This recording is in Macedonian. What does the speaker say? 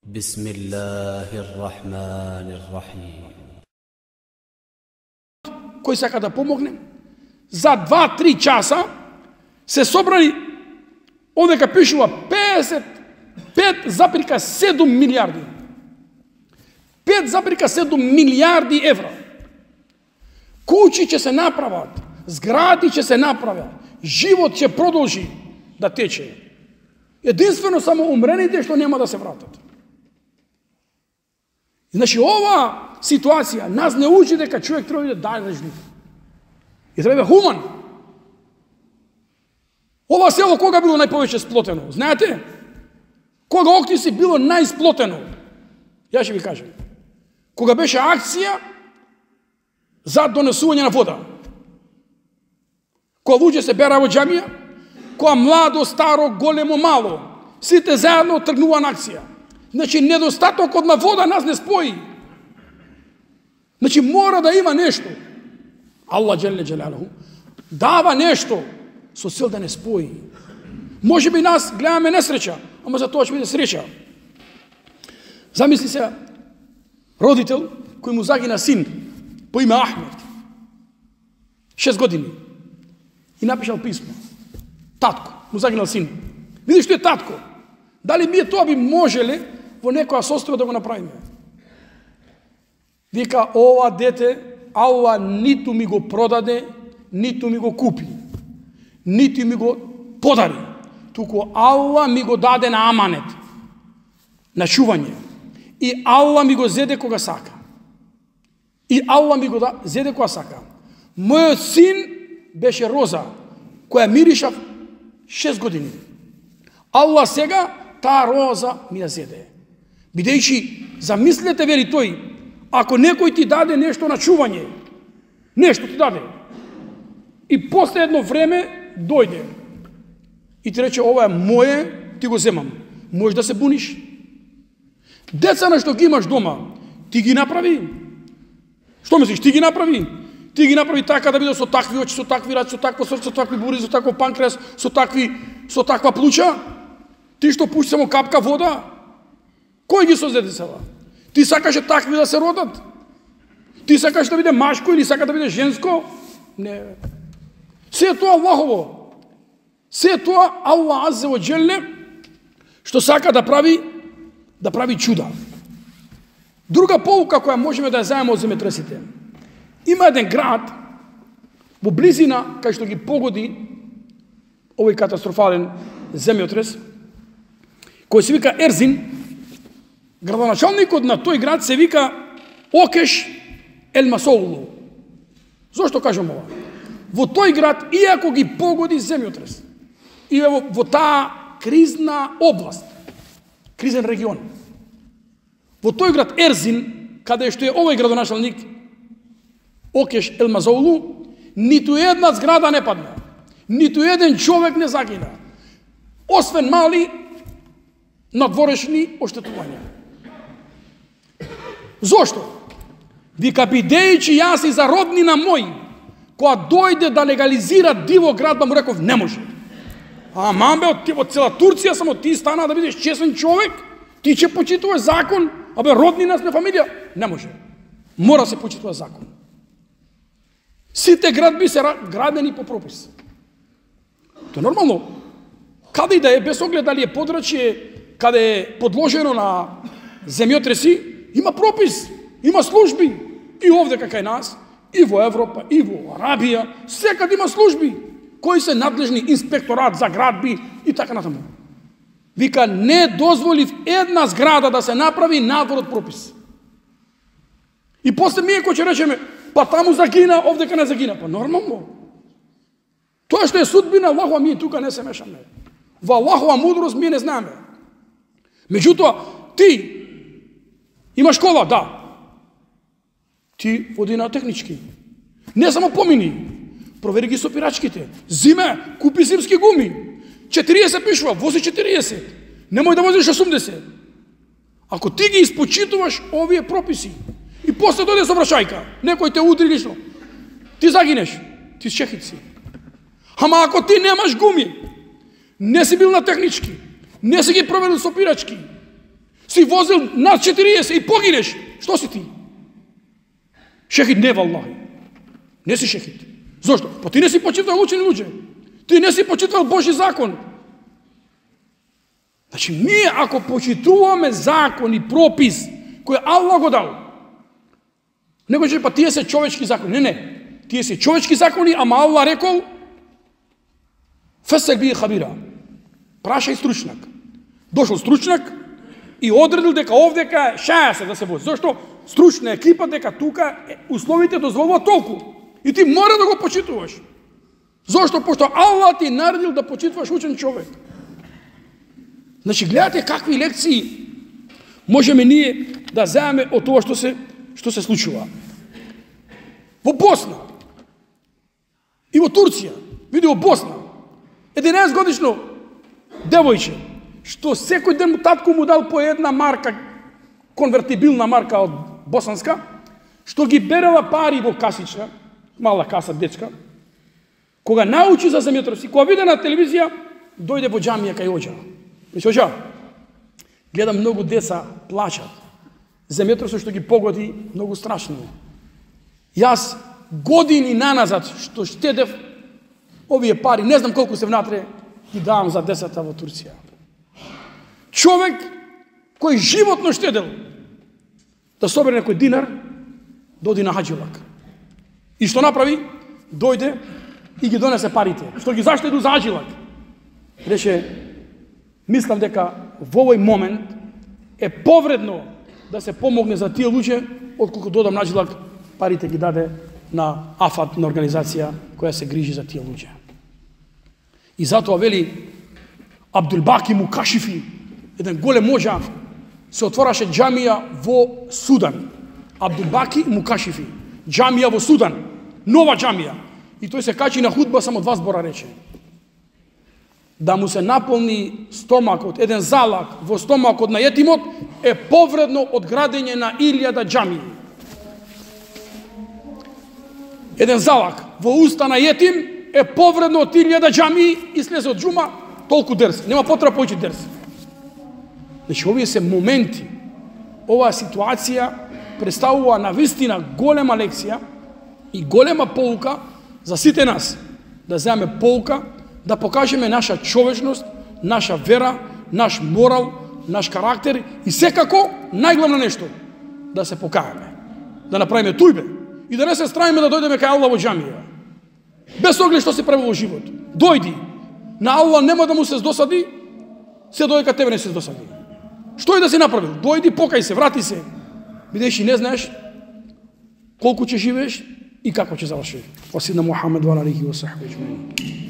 Бисмиллахир-рахманир-рахим. Кој сака да помогне, за 2-3 часа се собрани, одека пишува 5,7 милиарди. 5,7 милиарди евра. Куќи ќе се направат, згради ќе се направат, живот ќе продолжи да тече. Единствено само умрените што нема да се вратат. Значи, ова ситуација нас не учи дека човек треба да даде нежлив. И треба да хуман. Ова село кога било најповеќе сплотено? Знаете? Кога Охтис било најсплотено? Ја ќе ви кажам. Кога беше акција за донесување на вода. Кога луѓе се бера во џамија, кога младо, старо, големо, мало, сите заедно тргнува на акција. Значи, недостатокот на вода нас не спои. Значи, мора да има нешто. Аллах Джелле Джелалуху дава нешто со цел да не спои. Може би нас гледаме несреќа, ама за тоа ќе биде среќа. Замисли се родител кој му загина син по име Ахмед, 6 години, и напишал писмо. Татко, му загинал син. Види што е татко. Дали ние тоа би можеле во некоја состојба да го направиме? Вика, ова дете Аллах ниту ми го продаде, ниту ми го купи, ниту ми го подари, туку Аллах ми го даде на аманет, на чување. И Аллах ми го зеде кога сака. И Аллах ми го зеде кога сака. Мојот син беше роза, која мириша 6 години. Аллах сега таа роза ми ја зеде. Бидејќи, замислете, вели тој, ако некој ти даде нешто на чување, нешто ти даде, и после едно време дојде и ти рече, ова е моје, ти го земам, можеш да се буниш? Деца на што ги имаш дома, ти ги направи? Што мислиш, ти ги направи? Ти ги направи така да биде со такви очи, со такви раци, со такво срце, со такви бури, со такво панкреас, со таква плуча? Ти што пушти само капка вода? Кој ги создаде сега? Ти сакаше такви да се родат? Ти сакаш да биде машко или сака да биде женско? Не. Се тоа Аллахово. Се тоа Аллах Аззе ва Джелле што сака да прави чуда. Друга поука која можеме да ја заемаме од земјотресите. Има еден град во близина кај што ги погоди овој катастрофален земјотрес, кој се вика Ерзин. Градоначалникот на тој град се вика Океш Елмасоулу. Зошто кажам ова? Во тој град, иако ги погоди земјотрес, и во таа кризна област, кризен регион, во тој град Ерзин, каде што е овој градоначалник Океш Елмасоулу, ниту една зграда не падна, ниту еден човек не загина, освен мали надворешни оштетувања. Зошто? Вика, бидејќи јас и за роднина мој, која дојде да легализира диво градба, му реков, не може. Мамбе, од цела Турција, само ти стана да бидеш честен човек, ти ќе почитуваш закон, абе, роднина сме фамилија. Не може. Мора се почитува закон. Сите градби се градени по пропис. Тоа е нормално. Каде и да е, без оглед дали е подрачје, каде е подложено на земјотреси, има пропис, има служби. И овде кај нас, и во Европа, и во Арабија, секад има служби, кои се надлежни, инспекторат за градби и така натаму. Вика, не дозволив една зграда да се направи надвор од пропис. И после ние кој ќе речеме, па таму загина, овдека не загина. Па нормално. Тоа што е судбина Аллахова, ние тука не се мешаме. Во Аллахова мудрост ние не знаеме. Меѓутоа, ти имаш кола, да. Ти води на технички. Не само помини. Провери ги сопирачките. Зиме, купи зимски гуми. 40 пишува, вози 40. Немој да возиш 80. Ако ти ги испочитуваш овие прописи и после дојде сообраќајка, некој те удри лично, ти загинеш, ти шехит си. Ама ако ти немаш гуми, не си бил на технички, не си ги проверил сопирачки, Си возил над 40 и погинеш. Што си ти? Шехид не, валлахи. Не си шехид. Зошто? Па ти не си почитал учени луѓе. Ти не си почитал Божи закон. Значи, ние ако почитуваме закон и пропис кој Аллах го дал, не го че па тие се човечки закони. Не. Тие се човечки закони, ама Аллах рекол фесел би хабира. Прашај стручнак. Дошол стручнак и одредил дека овдека шаја се да се вози. Зошто? Стручна екипа дека тука условите дозволуваат толку. И ти мора да го почитуваш. Зошто? Пошто Аллах ти наредил да почитуваш учен човек. Значи, гледате какви лекции можеме ние да земеме од тоа што се случува. Во Босна и во Турција, види во Босна, 11 годишно девојче, што секој ден татко му дал по една марка, конвертибилна марка од босанска, што ги берела пари во касичка, мала каса дечка, кога научи за земјотрес и кога виде на телевизија, дојде во џамија кај оџа. Мисле, оџа, гледам многу деца плачат. Земјотресот што ги погоди многу страшно. Јас години наназад што штедев овие пари, не знам колку се внатре, ги давам за децата во Турција. Човек кој животно штедел да собере некој динар, доди на хаџилак. И што направи? Дојде и ги донесе парите. Што ги заштеду за хаџилак. Рече, мислам дека во овој момент е повредно да се помогне за тие луѓе, отколку додам на хаџилак, парите ги даде на АФАД, на организација која се грижи за тие луѓе. И затоа вели Абдулбаки Мукашифи, еден голем моџа, се отвораше џамија во Судан. Абдулбаки Мукашифи, џамија во Судан, нова џамија. И тој се качи на худба, само 2 збора рече. Да му се наполни стомакот, еден залак во стомакот на етимот е повредно од градење на 1000 џамии. Еден залак во уста на етим е повредно од 1000 џамии и слезе од џума толку дерс. Нема потреба појчи дерс. Значи, овие се моменти, оваа ситуација представува навистина голема лекција и голема поука за сите нас. Да земеме поука, да покажеме наша човечност, наша вера, наш морал, наш карактер и секако, најглавно нешто, да се покаеме. Да направиме тујбе и да не се стравиме да дојдеме кај Аллах во џамија. Без оглед што се прави во живот. Дојди. На Аллах нема да му се здосади, се додека тебе не се здосади. Што е да си направил? Дојди, покај се, врати се. Бидејќи не знаеш колку ќе живееш и како ќе завршиш. Васидна Мухамед ва алейхи ва сахби аџмаин.